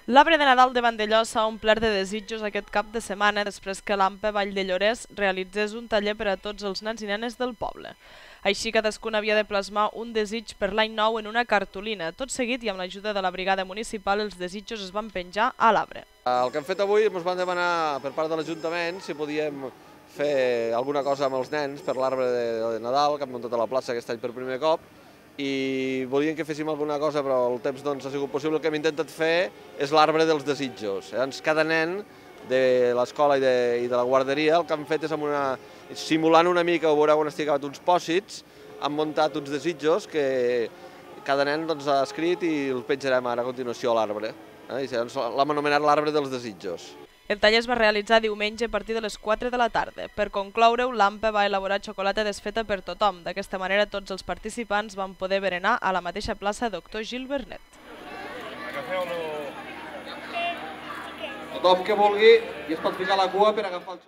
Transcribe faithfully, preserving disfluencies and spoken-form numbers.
L'arbre de Nadal de Vandellós s'ha omplert de desitjos aquest cap de setmana després que l'A M P E Vall de Llorès realitzés un taller per a tots els nens i nenes del poble. Així cadascun havia de plasmar un desig per l'any nou en una cartolina. Tot seguit i amb l'ajuda de la brigada municipal els desitjos es van penjar a l'arbre. El que hem fet avui ens van demanar per part de l'Ajuntament si podíem fer alguna cosa amb els nens per l'arbre de Nadal que hem muntat a la plaça aquest any per primer cop i volien que féssim alguna cosa però el temps no ens ha sigut possible. El que hem intentat fer és l'arbre dels desitjos. Llavors cada nen de l'escola i, de, i de la guarderia el que han fet és amb una, simulant una mica, ho veureu on estic acabat uns pòsits, han muntat uns desitjos que cada nen doncs, ha escrit i els penjarem ara a continuació a l'arbre. Eh? L'hem anomenat l'arbre dels desitjos. El taller es va realitzar diumenge a partir de les quatre de la tarda. Per concloure-ho, l'A M P E va elaborar xocolata desfeta per tothom. D'aquesta manera tots els participants van poder berenar a la mateixa plaça Doctor Gil Vernet. Tothom que vulgui i es pot ficar la cua per agafar el xocolata.